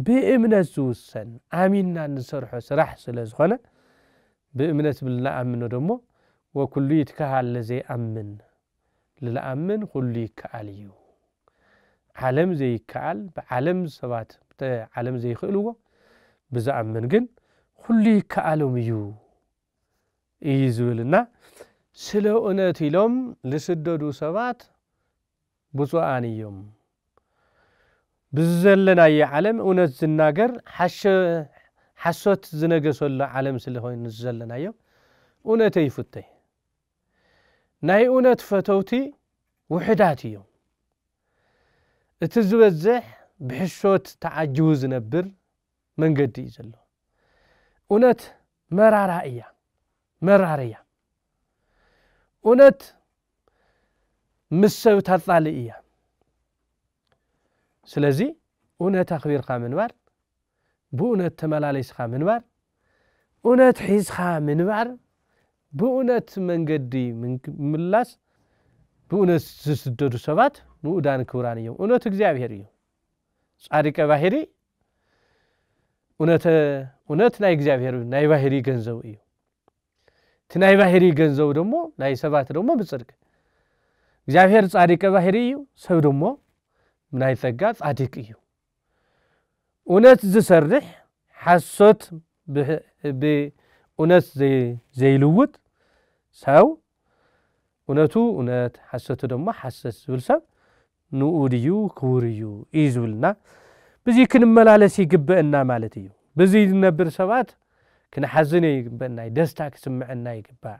ብእምነት ዝውሰን፣ ኣሚንና እንሰርሖ ስራሕ ስለ ዝኾነ፣ ብእምነት ብልንኣምኖ ደሞ፣ ወኩሉ ይትከሃል ለዘይኣምን፣ ልልኣምን ኩሉ ይከኣል እዩ። ዓለም ዘይከኣል፣ ብዓለም ሰባት፣ ብተ-፣ ዓለም ዘይክእልዎ፣ ብዝኣምን ግን ኩሉ ይከኣሎም እዩ፣ እዩ ዝብልና። ስለ እውነት ኢሎም ልስደዱ ሰባት ብፁዓን እዮም። ብዝዘለናዮ ዓለም እውነት ዝናገር ሓሸ-፣ ሓሶት ዝነገሰሉ ዓለም ስለ ኮይኑ ዝዘለናዮ እውነተይ ይፉተይ። ናይ እውነት ፈተውቲ ውሕዳት እዮም። እቲ ዝበዝሕ ብሕሾት ተዓጅቡ ዝነብር መንገዲ እዩ ዘሎ። እውነት መራራ እያ፣ መራር እያ። እውነት ምስ ሰብ ታጣልእ እያ። ስለዚ እውነት ኣኽቢርካ ምንባር፣ ብእውነት ተመላሊስካ ምንባር፣ እውነት ሒዝካ ምንባር፣ ብእውነት መንገዲ ምምላስ፣ ብእውነት ዝስደዱ ሰባት ንኡዳን ክቡራን እዮም። እውነት እግዚኣብሔር እዩ። ጻድቀ ባህሪ እውነት ናይ እግዚኣብሔር ናይ ባህሪ ገንዘቡ እዩ። እቲ ናይ ባህሪ ገንዘቡ ደሞ ናይ ሰባት ደሞ ብጽድቅ እግዚኣብሔር ጻድቀ ባህሪ እዩ። ሰብ ደሞ ናይ ጸጋ ጻድቅ እዩ። እውነት ዝሰርሕ ሓሶት ብእውነት ዘይልውጥ ሰው እውነቱ እውነት ሓሰቱ ደሞ ሓሰት ዝብል ሰብ ንኡ ድዩ ክቡር እዩ እዩ ዝብልና። ብዚ ክንመላለስ ይግበእና ማለት እዩ። ብዚ ዝነብር ሰባት ክንሓዝን ይግበእና እዩ። ደስታ ክስምዐና ይግባእ።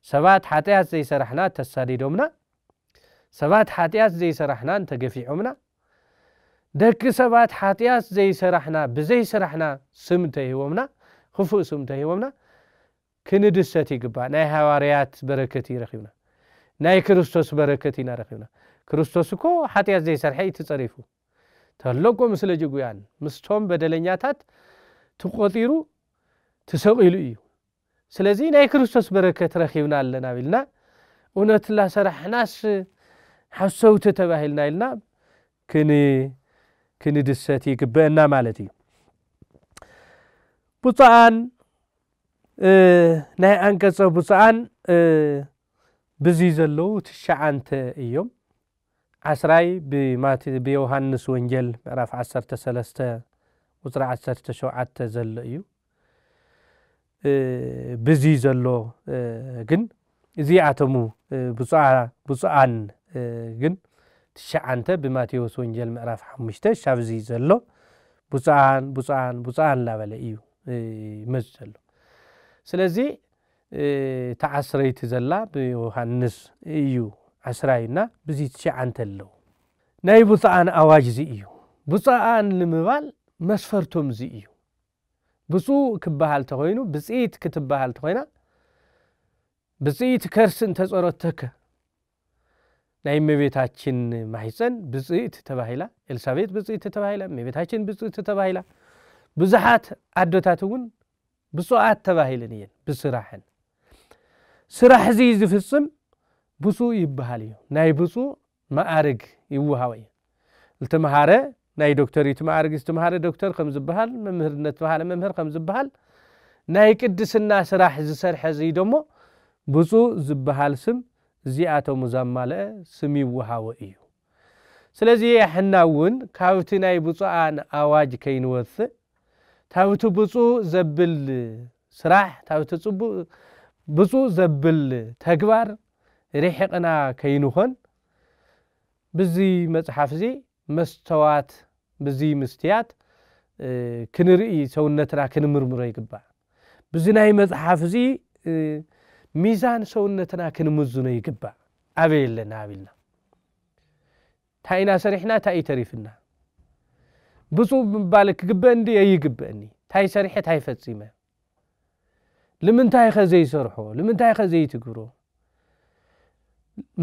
ሰባት ሓጢኣት ዘይሰራሕና ተሳዲዶምና፣ ሰባት ሓጢኣት ዘይሰራሕና እንተገፊዖምና፣ ደቂ ሰባት ሓጢኣት ዘይሰራሕና ብዘይሰራሕና ስም እንተሂቦምና፣ ክፉእ ስም እንተሂቦምና ክንድሰት ይግባእ። ናይ ሃዋርያት በረከት እዩ ረኺብና። ናይ ክርስቶስ በረከት ኢና ረኺብና። ክርስቶስ እኮ ሓጢኣት ዘይሰርሐ እዩ ተጸሪፉ። ተለቆ ምስለ ጅጉያን ምስቶም በደለኛታት ተቆጢሩ ተሰቒሉ እዩ። ስለዚ ናይ ክርስቶስ በረከት ረኺብና ኣለና ቢልና እውነት ላሰራሕናስ ሓሰውቲ ተባሂልና ኢልና ክንድሰት ይግበአና ማለት እዩ። ብፁዓን ናይ ኣንቀጸ ብፁዓን ብዚ ዘለዉ ትሽዓንተ እዮም። ዓስራይ ብማቴ ብዮሃንስ ወንጌል ምዕራፍ ዓሰርተ ሰለስተ ቁጽሪ ዓሰርተ ሸውዓተ ዘሎ እዩ። ብዚ ዘሎ ግን እዚኣቶም ብፁዓን ግን ትሽዓንተ ብማቴዎስ ወንጌል ምዕራፍ ሓሙሽተ ሻብዚ ዘሎ ብፁዓን ብፁዓን ብፁዓን እናበለ እዩ ይመጽእ ዘሎ። ስለዚ እታ ዓስረይቲ ዘላ ብዮሃንስ እዩ ዓስራዩና ብዚ ትሽዓንተ ኣለዉ። ናይ ብፁዓን ኣዋጅ እዚ እዩ። ብፁዓን ንምባል መስፈርቶም እዚ እዩ። ብፁዕ ክበሃል ተኾይኑ፣ ብፅኢት ክትበሃል ተኾይና፣ ብፅኢት ከርስ እንተፀረተከ ናይ እመቤታችን ማሕፀን ብፅዕት ተባሂላ፣ ኤልሳቤጥ ብፅዕት ተባሂላ፣ እመቤታችን ብፅዕት ተባሂላ። ብዙሓት ኣዶታት እውን ብፁዓት ተባሂለን እየን ብስራሐን። ስራሕ እዚ ዝፍፅም ብፁዕ ይበሃል እዩ። ናይ ብፁዕ መኣርግ ይወሃቦ እዩ። ዝተምሃረ ናይ ዶክተሪት መኣርግ ዝተምሃረ ዶክተር ከም ዝበሃል፣ መምህር ዝተምሃረ መምህር ከም ዝበሃል፣ ናይ ቅድስና ስራሕ ዝሰርሐ እዚ ደሞ ብፁዕ ዝበሃል ስም እዚኣቶም ዘማልአ ስም ይወሃቦ እዩ። ስለዚ ሕና እውን ካብቲ ናይ ብፁዓን ኣዋጅ ከይንወፅእ፣ ታብቲ ብፁዕ ዘብል ስራሕ፣ ታብቲ ብፁዕ ዘብል ተግባር ርሒቕና ከይንኾን፣ ብዚ መፅሓፍ እዚ መስተዋት፣ ብዚ ምስትያት ክንርኢ፣ ሰውነትና ክንምርምሮ ይግባእ። ብዚ ናይ መፅሓፍ እዚ ሚዛን ሰውነትና ክንምዝኖ ይግባእ። ኣበይ ኣለና ኣቢልና፣ እንታይ ኢና ሰሪሕና፣ እንታይ እዩ ተሪፍና? ብፁዕ ምባል ክግበእኒ ድዩ ኣይግበእኒ? እንታይ ሰሪሐ እንታይ ፈፂመ? ንምንታይ ኸ ዘይሰርሖ? ንምንታይ ኸ ዘይትግብሮ?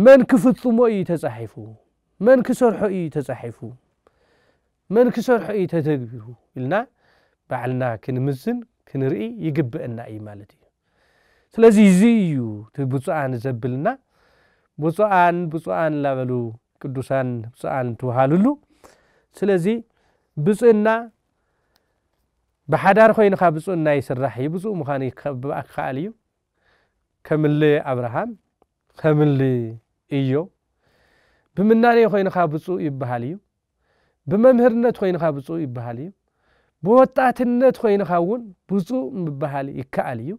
መን ክፍፅሞ እዩ ተፃሒፉ? መን ክሰርሖ እዩ ተፃሒፉ? መን ክሰርሖ እዩ ተተግቢሩ? ኢልና ባዕልና ክንምዝን ክንርኢ ይግበአና እዩ ማለት እዩ። ስለዚ እዚ እዩ እቲ ብፁዓን ዘብልና። ብፁዓን ብፁዓን እናበሉ ቅዱሳን ብፁዓን ትበሃልሉ። ስለዚ ብፅእና ብሓዳር ኮይንካ ብፅእና ይስራሕ እዩ። ብፁእ ምዃን ይከ- ይከኣል እዩ። ከምሊ ኣብርሃም፣ ከምሊ እዮብ፣ ብምናኔ ኮይንካ ብፁእ ይበሃል እዩ። ብመምህርነት ኮይንካ ብፁእ ይበሃል እዩ። ብወጣትነት ኮይንካ እውን ብፁእ ምበሃል ይከኣል እዩ።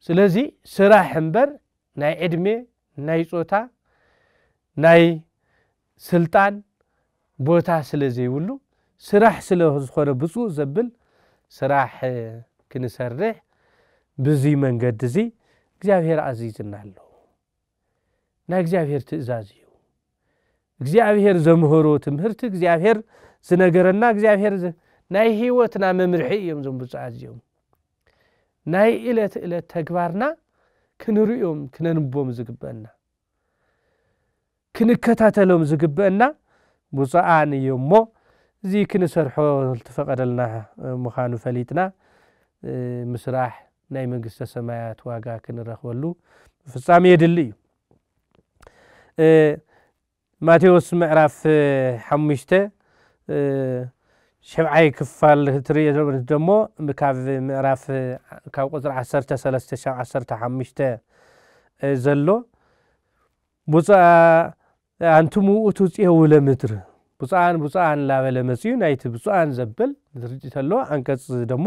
ስለዚ ስራሕ እምበር ናይ ዕድሜ፣ ናይ ጾታ፣ ናይ ስልጣን ቦታ ስለ ዘይብሉ፣ ስራሕ ስለ ዝኾነ ብፁእ ዘብል ስራሕ ክንሰርሕ ብዚ መንገዲ እዚ እግዚኣብሔር ኣዚዝና ኣሎ። ናይ እግዚኣብሔር ትእዛዝ እዩ። እግዚኣብሔር ዘምህሮ ትምህርቲ፣ እግዚኣብሔር ዝነገረና፣ እግዚኣብሔር ዝ- ናይ ህይወትና መምርሒ እዮም እዞም ብፁዓት እዚኦም። ናይ ዕለት ዕለት ተግባርና ክንርእዮም ክነንቦም ዝግበአና፣ ክንከታተሎም ዝግበአና ብፁዓን እዮም እሞ፣ እዚ ክንሰርሖ ዝተፈቐደልና ምዃኑ ፈሊጥና ምስራሕ ናይ መንግስተ ሰማያት ዋጋ ክንረኽበሉ ብፍጻሜ የድሊ እዩ። ማቴዎስ ምዕራፍ ሓሙሽተ ሸብዓይ ክፋል ትርእዮ ደሞ፣ ካብ ምዕራፍ ካብ ቁፅሪ ዓሰርተ ሰለስተ ክሳብ ዓሰርተ ሓሙሽተ ዘሎ፣ ብፁዓ ኣንትሙ ውእቱ ጽዮው ለምድር፣ ብፁዓን ብፁዓን ላበለ መጽዩ ናይቲ ብፁዓን ዘብል ዝርጅ ተሎ፣ ኣንቀጽ ደሞ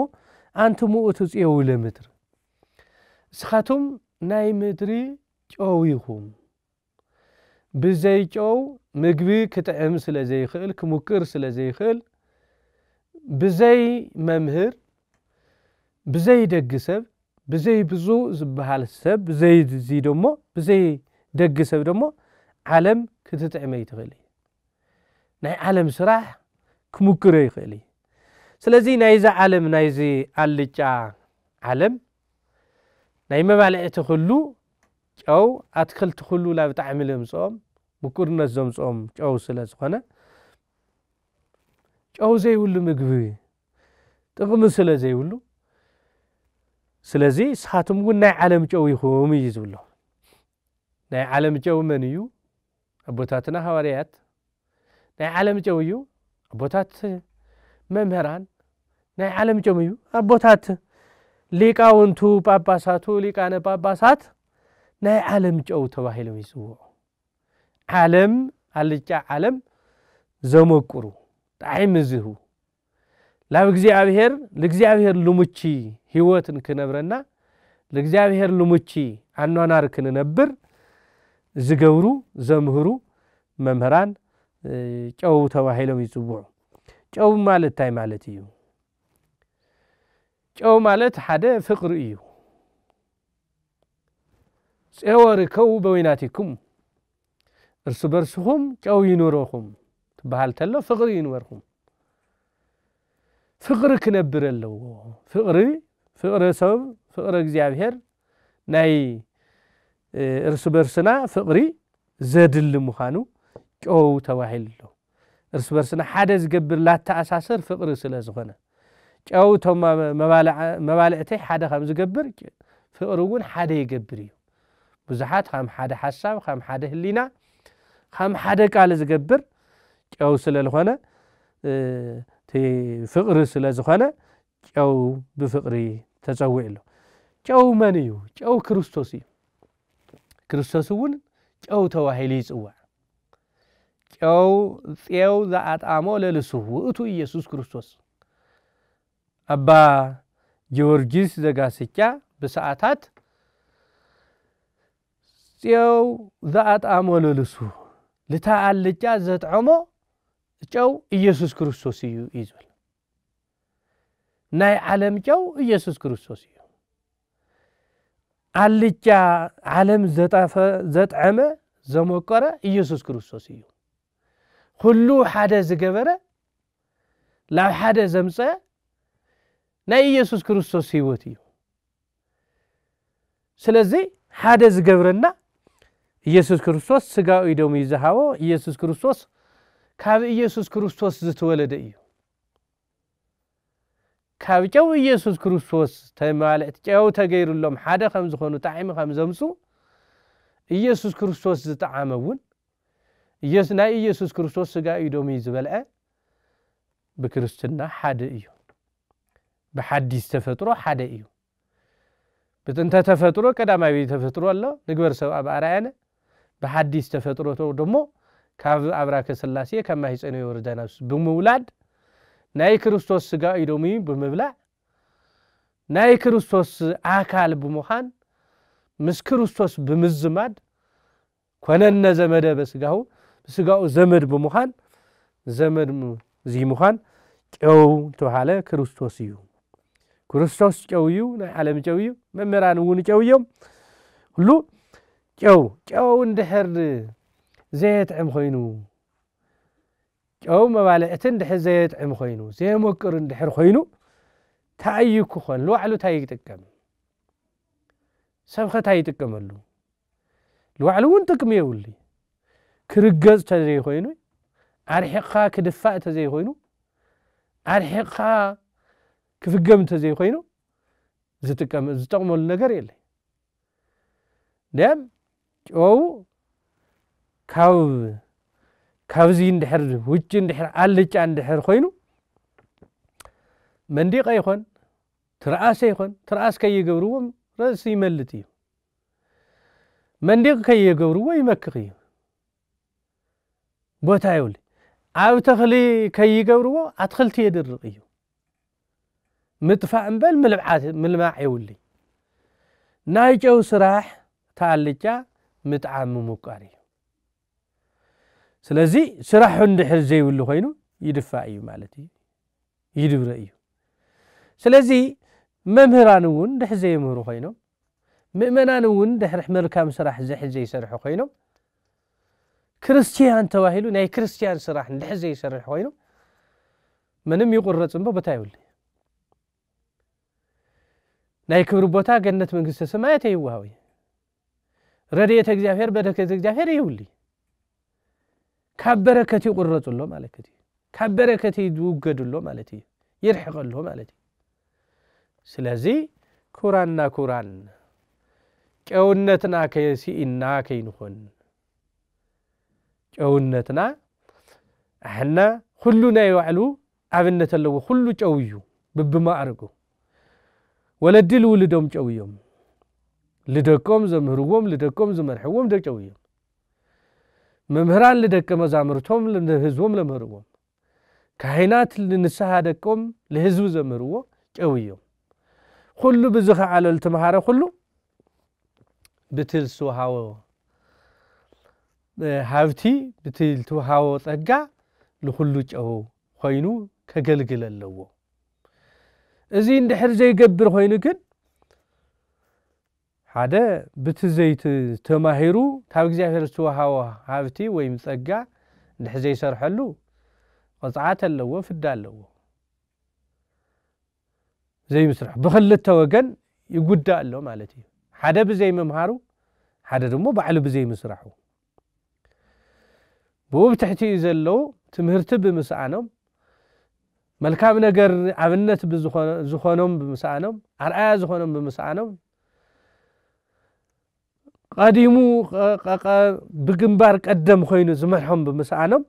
ኣንትሙ ውእቱ ጽዮው ለምድር፣ እስኻቱም ናይ ምድሪ ጨው ኢኹም። ብዘይ ጨው ምግቢ ክጥዕም ስለ ዘይኽእል፣ ክሙቅር ስለ ዘይኽእል፣ ብዘይ መምህር፣ ብዘይ ደግ ሰብ፣ ብዘይ ብፁዕ ዝበሃል ሰብ፣ ብዘይ እዚ ደሞ፣ ብዘይ ደግ ሰብ ደሞ ዓለም ክትጥዕም ኣይትኽእል እዩ። ናይ ዓለም ስራሕ ክሙክሮ ይኽእል እዩ። ስለዚ ናይዚ ዓለም፣ ናይዚ ኣልጫ ዓለም ናይ መባልዕቲ ኩሉ ጨው፣ ኣትክልቲ ኩሉ ላብ ጣዕሚ ለምፅኦም፣ ምቁርነት ዘምፅኦም ጨው ስለ ዝኾነ፣ ጨው ዘይብሉ ምግቢ ጥቕሚ ስለ ዘይብሉ፣ ስለዚ ንስኻትኩም እውን ናይ ዓለም ጨው ኢኹም እዩ ዝብሎ። ናይ ዓለም ጨው መን እዩ? ኣቦታትና ሃዋርያት። ናይ ዓለም ጨው እዩ ኣቦታት መምህራን። ናይ ዓለም ጨው እዩ ኣቦታት ሊቃውንቱ፣ ጳጳሳቱ፣ ሊቃነ ጳጳሳት ናይ ዓለም ጨው ተባሂሎም ይጽውዑ። ዓለም፣ ኣልጫ ዓለም ዘመቁሩ፣ ጣዕሚ ዝህቡ፣ ላብ እግዚኣብሔር፣ ለእግዚኣብሔር ልሙቺ ህይወት ንክነብረና፣ ለእግዚኣብሔር ልሙቺ ኣኗናር ክንነብር ዝገብሩ፣ ዘምህሩ መምህራን፣ እ፣ ጨው ተባሂሎም ይጽውዑ። ጨው ማለት እንታይ ማለት እዩ? ጨው ማለት ሓደ ፍቕሪ እዩ። "ጼወ ርከቡ በወይናቲኩም፣ እርስ በርስኹም ጨው ይኑረኹም" ትበሃል ተሎ፣ ፍቕሪ ይንበርኹም። ፍቕሪ ክነብር ኣለዎ። ፍቕሪ፣ ፍቕሪ ሰብ፣ ፍቕሪ እግዚኣብሔር፣ ናይ፣ እ፣ እርስ በርስና ፍቕሪ ዘድሊ ምዃኑ ጨው ተባሂሉ ኣሎ። እርስ በርስና ሓደ ዝገብር፣ ላተኣሳስር ፍቕሪ ስለ ዝኾነ፣ ጨው እቶም መባልዓ-፣ መባልዕተይ ሓደ ከም ዝገብር፣ ፍቕሪ እውን ሓደ ይገብር እዩ። ብዙሓት ከም ሓደ ሓሳብ፣ ከም ሓደ ህሊና፣ ከም ሓደ ቃል ዝገብር ጨው ስለ ዝኾነ፣ እ፣ እቲ ፍቕሪ ስለ ዝኾነ፣ ጨው ብፍቕሪ ተጸዊዑ ኣሎ። ጨው መን እዩ? ጨው ክርስቶስ እዩ። ክርስቶስ እውን ጨው ተባሂሉ ይጽዋዕ። ጨው፣ ጼው ዘኣጣሞ ለልሱ ውእቱ ኢየሱስ ክርስቶስ። ኣባ ጊዮርጊስ ዘጋስጫ ብሰዓታት "ጼው ዘኣጣሞ ለልሱ፣ ልታ ኣልጫ ዘጥዐሞ ጨው ኢየሱስ ክርስቶስ እዩ" እዩ ዝብል። ናይ ዓለም ጨው ኢየሱስ ክርስቶስ እዩ። ኣልጫ ዓለም ዘጣፈ-፣ ዘጥዐመ፣ ዘመቀረ ኢየሱስ ክርስቶስ እዩ። ኩሉ ሓደ ዝገበረ፣ ላብ ሓደ ዘምጸ ናይ ኢየሱስ ክርስቶስ ህይወት እዩ። ስለዚ ሓደ ዝገብረና ኢየሱስ ክርስቶስ ስጋኡ እዩ ደሙ እዩ ዝሃቦ። ኢየሱስ ክርስቶስ ካብ ኢየሱስ ክርስቶስ ዝተወለደ እዩ። ካብ ጨው ኢየሱስ ክርስቶስ ተማልእቲ ጨው ተገይሩሎም ሓደ ከም ዝኾኑ፣ ጣዕሚ ከም ዘምጹ፣ ኢየሱስ ክርስቶስ ዝጠዓመ እውን፣ ኢየሱ-፣ ናይ ኢየሱስ ክርስቶስ ስጋ እዩ ደሙ እዩ ዝበልዐ፣ ብክርስትና ሓደ እዩ። ብሓዲስ ተፈጥሮ ሓደ እዩ። ብጥንተ ተፈጥሮ ቀዳማዊ ተፈጥሮ ኣሎ፣ ንግበር ሰብኣ ብኣርኣያነ። ብሓዲስ ተፈጥሮ ደሞ ካብ ኣብራከ ስላሴ፣ ካብ ማህፀነ ዮርዳኖስ ብምውላድ፣ ናይ ክርስቶስ ስጋ እዩ ደሙ ብምብላዕ፣ ናይ ክርስቶስ ኣካል ብምዃን፣ ምስ ክርስቶስ ብምዝማድ፣ "ኮነነ ዘመደ በስጋሁ"፣ ብስጋኡ ዘመድ ብምዃን፣ ዘመድ ም-፣ እዚ ምዃን ጨው ተባሃለ፣ ክርስቶስ እዩ። ክርስቶስ ጨው እዩ፣ ናይ ዓለም ጨው እዩ፣ መምህራን እውን ጨው እዮም። ኩሉ ጨው፣ ጨው እንድሕር ዘየጥዕም ኮይኑ፣ ጨው መባልዕቲ እንድሕር ዘየጥዕም ኮይኑ፣ ዘየመቅር እንድሕር ኮይኑ፣ እንታይ እዩ ክኾን? ንባዕሉ እንታይ ይጥቀም? ሰብኸ እንታይ ይጥቀመሉ? ንባዕሉ እውን ጥቅሚ የብሉ። ክርገጽ ተዘይኮይኑ፣ ኣርሒቕካ ክድፋእ ተዘይኮይኑ፣ ኣርሒቕካ ክፍገም ተዘይኮይኑ፣ ዝጥቀም-፣ ዝጠቕመሉ ነገር የለ። ደም ጨው ካብ፣ ካብዚ እንድሕር፣ ውጭ እንድሕር፣ ኣልጫ እንድሕር ኮይኑ፣ መንዲቐ ይኾን፣ ትርኣሰ ይኾን፣ ትርኣስ ከይገብርዎም ረእሲ ይመልጥ እዩ። መንዲቕ ከይገብርዎ ይመክኽ እዩ። ቦታ የብሉ። ኣብ ተኽሊ ከይገብርዎ ኣትኽልቲ የድርቕ እዩ። ምጥፋእ እምበል ምልብዓት-፣ ምልማዕ የብሉ። ናይ ጨው ስራሕ ተኣልጫ ምጥዓም ምሙቃር እዩ። ስለዚ ስራሑ እንድሕር ዘይብሉ ኮይኑ ይድፋእ እዩ ማለት እዩ። ይድብረ እዩ። ስለዚ መምህራን እውን እንድሕር ዘየምህሩ ኮይኖም፣ ምእመናን እውን ድሕሪ መልካም ስራሕ ዝሕር ዘይሰርሑ ኮይኖም፣ ክርስቲያን ተባሂሉ ናይ ክርስቲያን ስራሕ እንድሕር ዘይሰርሕ ኮይኑ፣ ምንም ይቁረጽ እምበር ቦታ ይብሉ። ናይ ክብሪ ቦታ ገነት መንግስተ ሰማያት ይወሃብ እዩ። ረድኤተ እግዚኣብሔር፣ በረከተ እግዚኣብሔር ይብሉ። ካብ በረከት ይቁረጹ ኣሎ ማለት እዩ። ካብ በረከት ይውገዱ ኣሎ ማለት እዩ። ይርሕቅ ኣሎ ማለት እዩ። ስለዚ ክቡራንና ክቡራን፣ ጨውነትና ከሲእና ከይንኾን፣ ጨውነትና ኣሕና ኩሉ ናይ ባዕሉ ኣብነት ኣለዎ። ኩሉ ጨው እዩ ብብማዕርጉ። ወለዲ ልውልዶም ጨው እዮም። ልደቆም ዘምህርዎም፣ ልደቆም ዝመርሕዎም ደ ጨው እዮም። መምህራን ልደቀ መዛሙርቶም፣ ንህዝቦም ለምህርዎም። ካህናት ንንስሓ ደቆም ልህዝቢ ዘምህርዎ ጨው እዮም። ኩሉ ብዝኸዓለ ልትምሃረ ኩሉ ብቲ ልትውሃቦ፣ እ፣ ሃብቲ፣ ብቲ ልትውሃቦ ጸጋ ንኹሉ ጨው ኮይኑ ከገልግል ኣለዎ። እዚ እንድሕር ዘይገብር ኮይኑ ግን፣ ሓደ ብቲ ዘይት-፣ ተማሂሩ ካብ እግዚኣብሔር ዝተውሃቦ ሃብቲ ወይም ጸጋ እንድሕር ዘይሰርሐሉ ቅጽዓት ኣለዎ፣ ፍዳ ኣለዎ። ዘይምስራሕ ብኽልተ ወገን ይጉዳእ ኣሎ ማለት እዩ። ሓደ ብዘይምምሃሩ፣ ሓደ ድማ ባዕሉ ብዘይምስራሑ። ብኡ ብትሕቲኡ ዘለዉ ትምህርቲ ብምስኣኖም፣ መልካም ነገር ኣብነት ብዝኾ-፣ ዝኾኖም ብምስኣኖም፣ ኣርኣያ ዝኾኖም ብምስኣኖም፣ ቀዲሙ ቀ-፣ ቀ-፣ ቀ-፣ ብግንባር ቀደም ኮይኑ ዝመርሖም ብምስኣኖም፣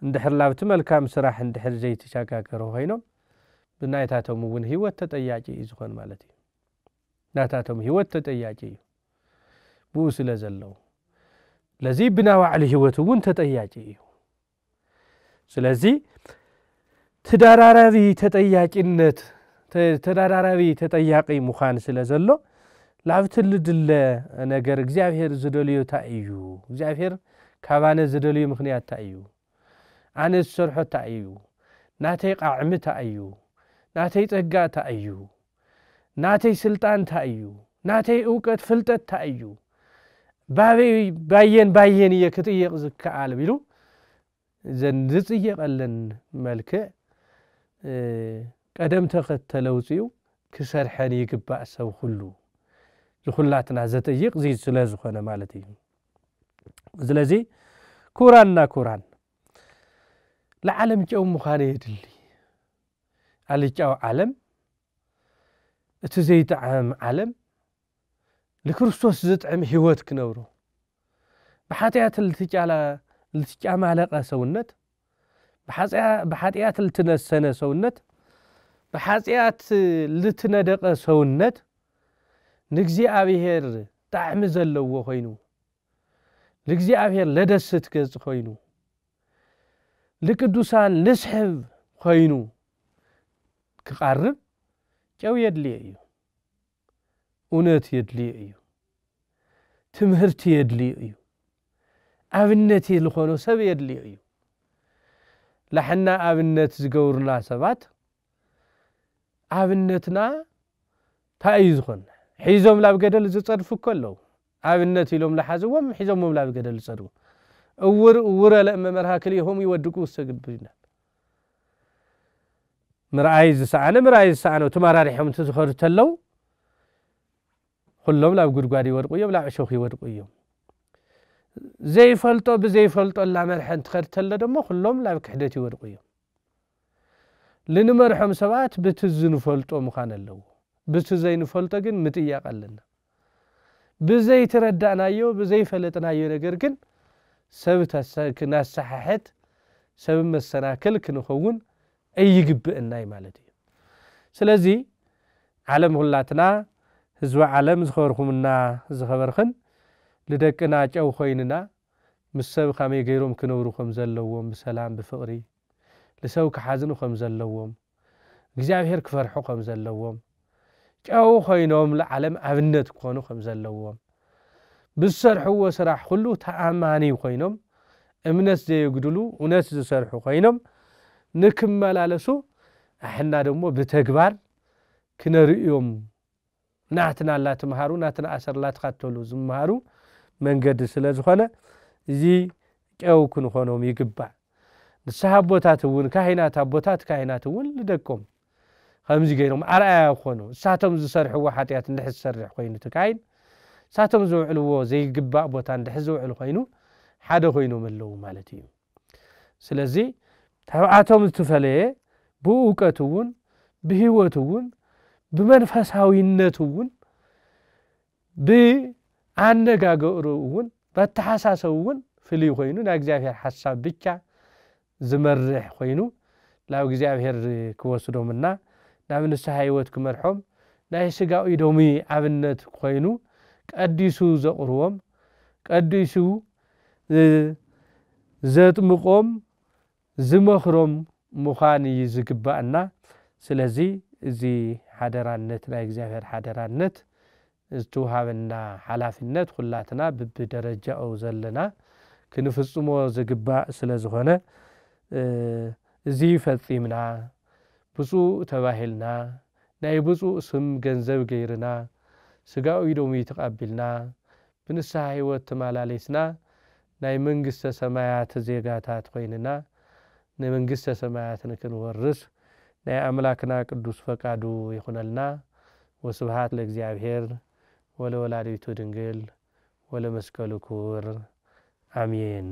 እንድሕር ላብቲ መልካም ስራሕ እንድሕር ዘይተሸጋገሩ ኮይኖም፣ ብናይታቶም እውን ህይወት ተጠያቂ እዩ ዝኾን ማለት እዩ። ናታቶም ህይወት ተጠያቂ እዩ። ብኡ ስለ ዘለዉ። ለዚ ብናይ ባዕሉ ህይወት እውን ተጠያቂ እዩ። ስለዚ ተደራራቢ ተጠያቂነት፣ ተ-፣ ተደራራቢ ተጠያቂ ምዃን ስለ ዘሎ፣ ላብቲ ልድለ ነገር እግዚኣብሔር ዝደልዮ እንታይ እዩ? እግዚኣብሔር ካባነ ዝደልዮ ምኽንያት እንታይ እዩ? ኣነ ዝሰርሖ እንታይ እዩ? ናተይ ቃዕሚ እንታይ እዩ? ናተይ ጸጋ እንታይ እዩ? ናተይ ስልጣን እንታይ እዩ? ናተይ እውቀት ፍልጠት እንታይ እዩ? ባበይ፣ ባየን ባየን እየ ክጥየቕ ዝከኣል ቢሉ፣ ዘን ዝጽየቐለን መልክዕ፣ እ፣ ቀደም ተኸተል ኣውጺኡ ክሰርሐን ይግባእ ሰብ ኩሉ። ዝኹላትና ዘጠይቕ እዚ ስለ ዝኾነ ማለት እዩ። ስለዚ ክቡራንና ክቡራን፣ ለዓለም ጨው ምዃን የድሊ። ኣልጫው ዓለም፣ እቲ ዘይጠዓም ዓለም፣ ንክርስቶስ ዝጥዕም ህይወት ክነብሩ። ብሓጢኣት ልትጫላ-፣ ልትጫማለቐ ሰውነት፣ ብሓጢኣ-፣ ብሓጢኣት ልትነሰነ ሰውነት፣ ብሓጢኣት ልትነደቐ ሰውነት፣ ንእግዚኣብሔር ጣዕሚ ዘለዎ ኮይኑ፣ ንእግዚኣብሔር ለደስት ገጽ ኮይኑ፣ ንቅዱሳን ልስሕብ ኮይኑ ክቐርብ ጨው የድልዮ እዩ። እውነት የድልዮ እዩ። ትምህርቲ የድልዮ እዩ። ኣብነት ዝኾኖ ሰብ የድልዮ እዩ። ላሕና ኣብነት ዝገብሩና ሰባት ኣብነትና እንታይ እዩ ዝኾን? ሒዞም ላብ ገደል ዝጸድፉ እኮ ኣለዉ። ኣብነት ኢሎም ዝሓዝዎም ሒዞሞም ላብ ገደል ዝጸድፉ። እውር እውረ ለእመ መርሃ ክልኤሆሙ ይወድቁ ውስተ ግብር ይላል። ምርኣይ ዝሰኣነ ምርኣይ ዝሰኣነ ተመራሪሖም እንትዝኸዱ ተለው ኩሎም ላብ ጉድጓድ ይወድቁ እዮም፣ ላብ ዕሾኽ ይወድቁ እዮም። ዘይፈልጦ ብዘይፈልጦ ላመርሐ እንትኸድ ተሎ ደሞ ኩሎም ላብ ክሕደት ይወድቁ እዮም። ልንመርሖም ሰባት ብቲ ዝንፈልጦ ምዃን ኣለዎ። ብቲ ዘይንፈልጦ ግን ምጥያቕ ኣለና። ብዘይተረዳእናዮ ብዘይፈለጥናዮ ነገር ግን ሰብ ተሰ- ክናሰሓሕት ሰብ መሰናክል ክንኸውን ኣይግብእናይ ማለት እዩ። ስለዚ ዓለም ኩላትና ህዝቢ ዓለም ዝኸበርኩምና ዝኸበርኽን ልደቅና ጨው ኮይንና ምስ ሰብ ከመይ ገይሮም ክነብሩ ከም ዘለዎም ብሰላም ብፍቕሪ ልሰብ ክሓዝኑ ከም ዘለዎም እግዚኣብሔር ክፈርሑ ከም ዘለዎም ጨው ኮይኖም ንዓለም ኣብነት ክኾኑ ከም ዘለዎም ብዝሰርሕዎ ስራሕ ኩሉ ተኣማኒ ኮይኖም እምነት ዘየጉድሉ እውነት ዝሰርሑ ኮይኖም ንክመላለሱ ኣሕና ደሞ ብተግባር ክነርእዮም ናትና ላትምሃሩ ናትና ኣሰር ላትኻተሉ ዝምሃሩ መንገዲ ስለ ዝኾነ እዚ ጨው ክንኾኖም ይግባእ። ንስሓ ኣቦታት እውን ካህናት ኣቦታት ካህናት እውን ንደቆም ከምዚ ገይሮም ኣርኣያ ክኾኑ እሳቶም ዝሰርሕዎ ሓጢኣት እንድሕር ዝሰርሕ ኮይኑ እቲ ካይን እሳቶም ዝውዕልዎ ዘይግባእ ቦታ እንድሕር ዝውዕል ኮይኑ ሓደ ኮይኖም ኣለዉ ማለት እዩ። ስለዚ ካብኣቶም ዝተፈለየ ብእውቀት እውን ብህይወት እውን ብመንፈሳዊነት እውን ብኣነጋገሩ እውን በተሓሳሰቡ እውን ፍልይ ኮይኑ ናይ እግዚኣብሔር ሓሳብ ብቻ ዝመርሕ ኮይኑ ናብ እግዚኣብሔር ክወስዶምና ናብ ንስሓ ህይወት ክመርሖም ናይ ስጋዊ ዶሚ ኣብነት ኮይኑ ቀዲሱ ዘቕርቦም ቀዲሱ ዘጥምቖም ዝመኽሮም ምዃን እዩ ዝግባእና። ስለዚ እዚ ሓደራነት ናይ እግዚኣብሔር ሓደራነት ዝተውሃበና ሓላፍነት ኩላትና ብብደረጃኡ ዘለና ክንፍጽሞ ዝግባእ ስለ ዝኾነ እዚ ፈጺምና ብፁእ ተባሂልና ናይ ብፁእ ስም ገንዘብ ገይርና ስጋኡ ኢዶሙ ተቐቢልና ብንስሓ ህይወት ተመላሊስና ናይ መንግስተ ሰማያት ዜጋታት ኮይንና ንመንግስተ ሰማያት ንክንወርስ ናይ ኣምላክና ቅዱስ ፈቃዱ ይኹነልና። ወስብሃት ለእግዚኣብሔር ወለወላዲቱ ድንግል ወለመስቀሉ ክቡር ኣሜን።